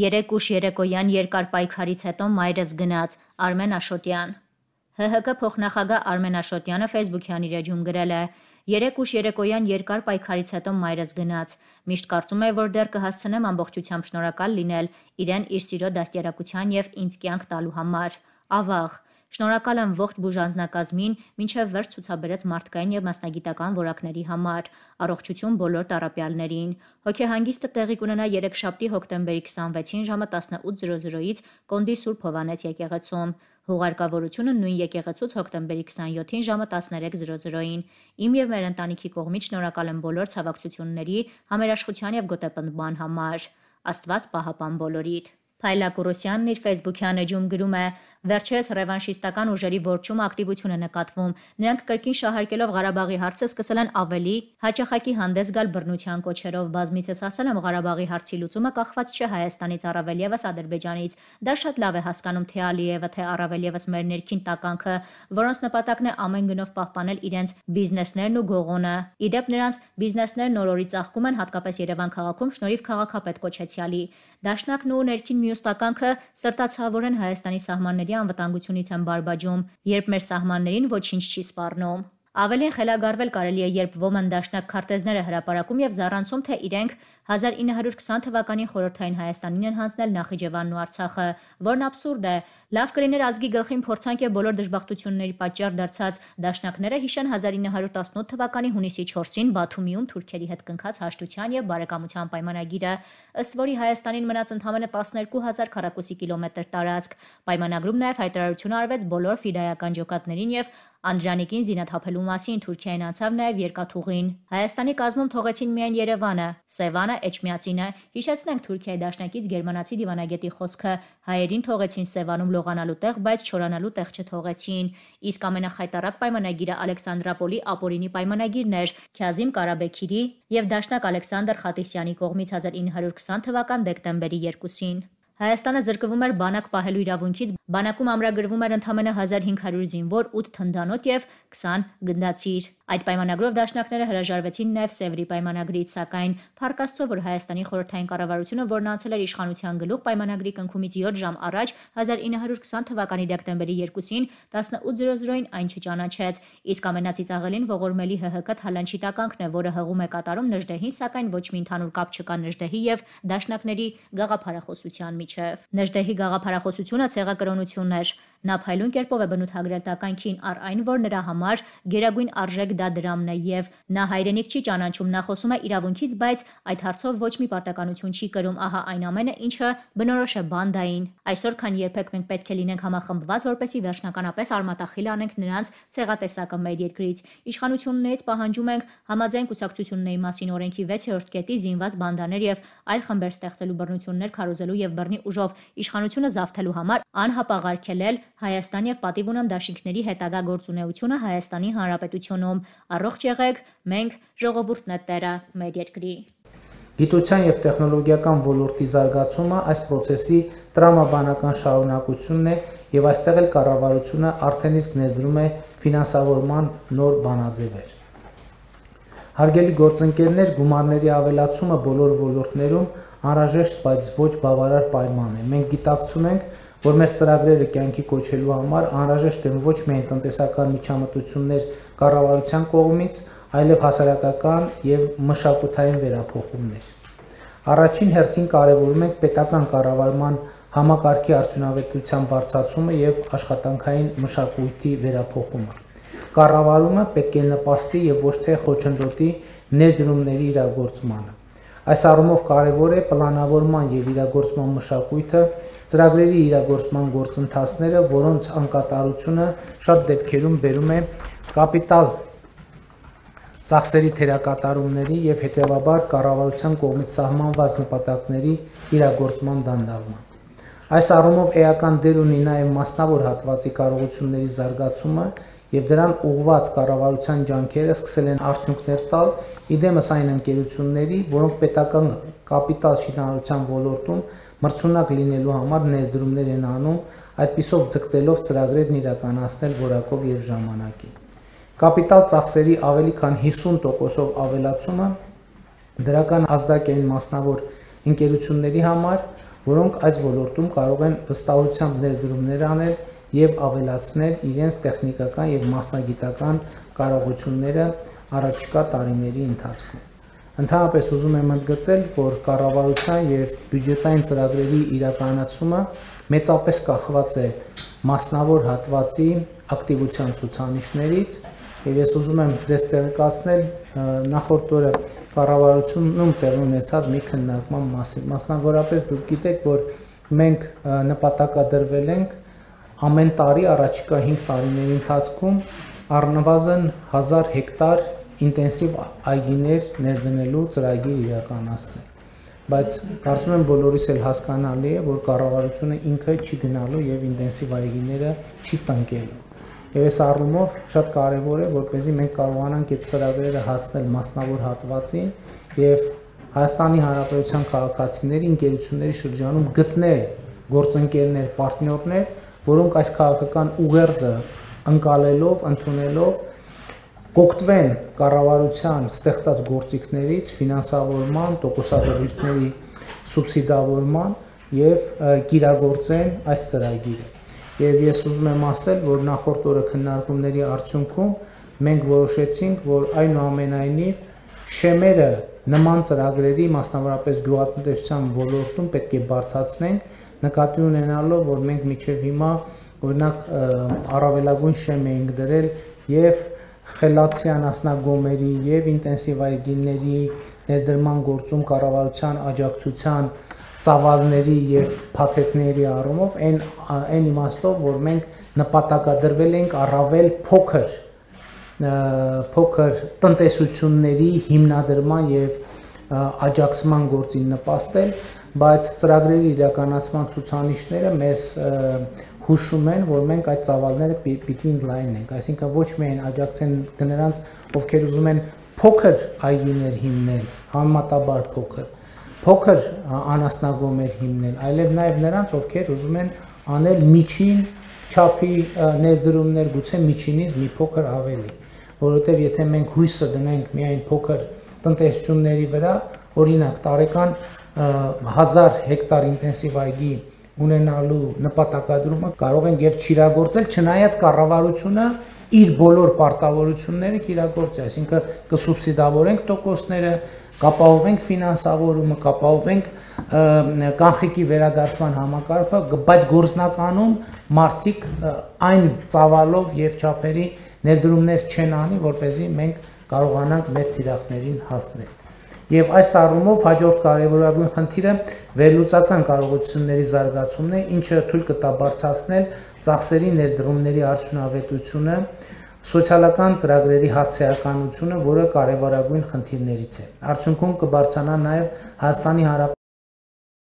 3 ուշ երեկոյան երկար պայքարից հետո մայրս գնաց, Արմեն Աշոտյան։ ՀՀԿ փոխնախագահ Արմեն Աշոտյանը Facebook-յան իր էջում գրել է. 3 ուշ երեկոյան երկար պայքարից հետո մայրս գնաց։ Միշտ կարծում էի, որ դեռ կհասցնեմ ամբողջությամբ շնորհակալ լինել իրեն իր սիրո դաստիարակության և ինձ կյանք տալու համար։ Ավաղ։ Շնորհակալ եմ ողջ բուժանձնակազմին, մինչև վերջ ցուցաբերեց մարդկային և մասնագիտական որակների համար։ Առողջություն բոլոր տառապյալներին։ Հոգեհանգիստը տեղի կունենա երեքշաբթի հոկտեմբերի 26-ին ժամը 18:00-ից Կոնդի Սուրբ Հովհաննես եկեղեցում։ Հուղարկավորությունը նույն եկեղեցուց հոկտեմբերի 27-ին ժամը 13:00-ին։ Իմ և մեր ընտանիքի կողմից շնորհակալ եմ բոլոր ցավակցությունների, համերաշխության և գոտեպնդման համար։ Աստված պահապան բոլորիդ։ Փայլակ Ուրոսյանն իր Facebook-յան էջում գրում է. Վերջերս ռևանշիստական ուժերի որջում ակտիվություն է նկատվում։ Նրանք կրկին շահարկելով Ղարաբաղի հարցը սկսել են ավելի հաճախակի հանդես գալ բռնության կոչերով։ Բազմիցս ասել եմ, Ղարաբաղի հարցի լուծումը կախված չէ Հայաստանից, առավել ևս Ադրբեջանից։ Դա շատ լավ է հասկանում թե Ալիևը, թե առավել ևս մեր ներքին տականքը, որոնց նպատակն է ամեն գնով պահպանել իրենց բիզնեսներն ու գողոնը։ Իդեպ նրանց բիզնեսներն օր-օրի ծաղկում են, հատկապես Երևան քաղաքում շնորհիվ քաղաքապետ կոչեցյալի։ Դաշնակն ու ներքին մյուս տականքը սրտացավորեն Հայաստանի սահմանների անվտանգությունից են բարբաջում, երբ մեր սահմաններին ոչինչ չի սպառնում։ Ավելին խելագարվել կարելի է, երբ ոմն դաշնակ քարտեզներ է հրապարակում և զառանցում, թե իրենք 1920 թվականին խորհրդային Հայաստանին են հանձնել Նախիջևանն ու Արցախը, որն աբսուրդ է։ Լավ կլիներ ազգի գլխին փորձանք և բոլոր դժբախտությունների պատճառ դարձած դաշնակները հիշեն 1918 թվականի հունիսի 4-ին Բաթումիում թուրքերի հետ կնքած հաշտության և բարեկամության պայմանագիրը, ըստ որի Հայաստանին մնաց ընդամենը 12,000 քառակուսի կիլոմետր տարածք։ Պայմանագրում նաև հայտարարություն արվեց բոլոր ֆիդայական ջոկատներին և Անդրանիկին զինաթափելու մասին, Թուրքիային անցավ նաև երկաթուղին։ Հայաստանի կազմում թողեցին միայն Երևանը, Սևանը, Էջմիածինը։ Հիշեցնենք Թուրքիայի դաշնակից գերմանացի դիվանագետի խոսքը. հայերին թողեցին Սևանում լողանալու տեղ, բայց չորանալու տեղ չթողեցին։ Իսկ ամենախայտառակ պայմանագիրը Ալեքսանդրապոլի ապօրինի պայմանագիրն էր Քյազիմ Կարաբեքիրի և դաշնակ Ալեքսանդր Խաթիսյանի կողմից 1920 թվական դեկտեմբերի 2-ին։ Հայաստանը զրկվում էր բանակ պահելու իրավունքից, բանակում ամրագրվում էր ընդամենը 1500 զինվոր, 8 թնդանոթ և 20 գնդացիր։ Այդ պայմանագրով դաշնակները հրաժարվեցին նաև Սևրի պայմանագրից, սակայն փառք Աստծո, որ Հայաստանի խորհրդային կառավարությունը, որն անցել էր իշխանության գլուխ, պայմանագրի կնքումից 7 ժամ առաջ 1920 թվականի դեկտեմբերի 2-ին 18:00-ին այն չճանաչեց։ Իսկ ամենածիծաղելին ողորմելի ՀՀԿ թալանչի տականքն է, որը հղում է կատարում Նժդեհին, սակայն ոչ մի ընդհանուր կապ չկա Նժդեհի և դաշնակների գաղափարախոսության միջև։ Նժդեհի գաղափարախոսությունը ցեղակրոնություն էր։ Նա փայլուն կերպով է բնութագրել տականքին, առ այն, որ նրա համար գերագույն արժեք դա դրամն է և նա հայրենիք չի ճանաչում, նա խոսում է իրավունքից, բայց այդ հարցով ոչ մի պարտականություն չի կրում, ահա այն ամենը, ինչը բնորոշ է բանդային։ Այսօր, քան երբեք մենք պետք է լինենք համախմբված, որպեսզի վերջնականապես արմատախիլ անենք նրանց ցեղատեսակը մեր երկրից։ Իշխանություններից պահանջում ենք համաձայն կուսակցությունների մասին օրենքի 6-րդ կետի զինված բանդաներ և այլ խմբեր ստեղծելու, բռնություններ քարոզելու և բռնի ուժով իշխանությունը զավթելու համար անհապաղ-արգելել Հայաստան և պատիվ ունեմ դաշինքների հետագա գործունեությունը Հայաստանի Հանրապետությունում։ Առողջ եղեք, մենք ժողովուրդն է տերը մեր երկրի։ Գիտության և տեխնոլոգիական ոլորտի զարգացումը այս պրոցեսի տրամաբանական շարունակությունն է և այստեղ էլ կառավարությունը արդեն իսկ ներդրում է ֆինանսավորման նոր բանաձևեր։ Հարգելի գործընկերներ, գումարների ավելացումը բոլոր ոլորտներում անհրաժեշտ, բայց ոչ բավարար պայման է։ Մենք գիտակցում ենք, որ մեր ծրագրերը կյանքի կոչելու համար անհրաժեշտ են ոչ միայն տնտեսական միջամտություններ կառավարության կողմից, այլև հասարակական և մշակութային վերափոխումներ։ Առաջին հերթին կարևորում ենք պետական կառավարման համակարգի արդյունավետության բարձրացումը և աշխատանքային մշակույթի վերափոխումը։ Կառավարումը պետք է նպաստի և ոչ թե խոչընդոտի ներդրումների իրագործմանը։ Այս առումով կարևոր է պլանավորման և իրագործման մշակույթը, ծրագրերի իրագործման գործընթացները, որոնց անկատարությունը շատ դեպքերում բերում է կապիտալ ծախսերի թերակատարումների և հետևաբար կառավարության կողմից սահմանված նպատակների իրագործման դանդաղման։ Այս առումով էական դեր ունի նաև մասնավոր հատվածի կարողությունների զարգացումը և դրան ուղղված կառավարության ջանքերը սկսել են արդյունքներ տալ, իդեմս այն ընկերությունների, որոնք պետական կապիտալ շինարարության ոլորտում մրցունակ լինելու համար ներդրումներ են անում, այդպիսով ձգտելով ծրագրերն իրականացնել որակով և ժամանակին։ Կապիտալ ծախսերի ավելի քան 50%-ով ավելացումը դրական ազդակ է մասնավոր ընկերությունների համար, որոնք այս ոլորտում կարող են վստահությամբ ներդրումներ անել եւ ավելացնել իրենց տեխնիկական եւ մասնագիտական կարողությունները առաջիկա տարիների ընթացքում։ Ընդհանրապես ուզում եմ ընդգծել, որ կառավարության եւ բյուջետային ծրագրերի իրականացումը մեծապես կախված է մասնավոր հատվածի ակտիվության ցուցանիշներից եւ ես ուզում եմ ձեզ տեղեկացնել նախորդ օրը կառավարությունում տեղի ունեցած մի քննարկման մասին։ Մասնավորապես դուք գիտեք, որ մենք նպատակադրվել ենք ամեն տարի առաջիկա 5 տարիների ընթացքում առնվազն 1000 հեկտար ինտենսիվ այգիներ ներդնելու ծրագիր իրականացնել։ Բայց կարծում եմ բոլորիս էլ հասկանալի է, որ կառավարությունը ինքը չի գնալու եւ ինտենսիվ այգիները չի տնկելու։ Եվ այս առումով շատ կարեւոր է, որպեսզի մենք կարողանանք այդ ծրագրերը հասնել մասնավոր հատվածին եւ Հայաստանի Հանրապետության քաղաքացիների, ընկերությունների շրջանում գտնել գործընկերներ, պարտներներ, որոնք այս քաղաքական ուղերձը ընկալելով, ընդունելով կօգտվեն կառավարության ստեղծած գործիքներից, ֆինանսավորման, տոկոսադրույթների սուբսիդավորման եւ կիրագործեն այս ծրագիրը։ Եվ ես ուզում եմ ասել, որ նախորդ օրը քննարկումների արդյունքում մենք որոշեցինք, որ այնուամենայնիվ շեմերը նման ծրագրերի, մասնավորապես գյուղատնտեսության ոլորտում պետք է բարձրացնենք, նկատի ունենալով, որ մենք մինչև հիմա օրինակ առավելագույն շեմ էինք դրել եւ խելացի անասնագոմերի եւ ինտենսիվ այգիների ներդրման գործում կառավարության աջակցության ծավալների եւ փաթեթների առումով այն իմաստով, որ մենք նպատակադրվել ենք առավել փոքր տնտեսությունների հիմնադրման եւ աջակցման գործին նպաստել, բայց ծրագրերի իրականացման ցուցանիշները մեզ հուշում են, որ մենք այդ ծավալները պիտի ընդլայնենք, այսինքն ոչ միայն աջակցեն նրանց, ովքեր ուզում են փոքր այգիներ հիմնել, համեմատաբար փոքր անասնագոմեր հիմնել, այլև նաև նրանց, ովքեր ուզում են անել միջին չափի ներդրումներ, գուցե միջինից մի փոքր ավելի, որովհետև եթե մենք հույսը դնենք միայն փոքր տնտեսությունների վրա, օրինակ տարեկան 1000 հեկտար ինտենսիվ այգի ունենալու նպատակադրումը կարող ենք եւ չիրագործել, չնայած կառավարությունը իր բոլոր պարտավորությունները կիրագործի, այսինքն կսուբսիդավորենք տոկոսները, կապահովենք ֆինանսավորումը, կապահովենք կանխիկի վերադարձման համակարգը, բայց գործնականում մարդիկ այն ծավալով եւ չափերի ներդրումներ չեն անի, որպեսզի մենք կարողանանք մեր թիրախներին հասնել։ Եվ այս առումով հաջորդ կարևորագույն խնդիրը վերլուծական կարողությունների զարգացումն է, ինչը թույլ կտա բարձրացնել ծախսերի ներդրումների արդյունավետությունը, սոցիալական ծրագրերի հասցեականությունը, որը կարևորագույն խնդիրներից է։ Արդյունքում կբարձրանա նաև Հայաստանի Հանրապետության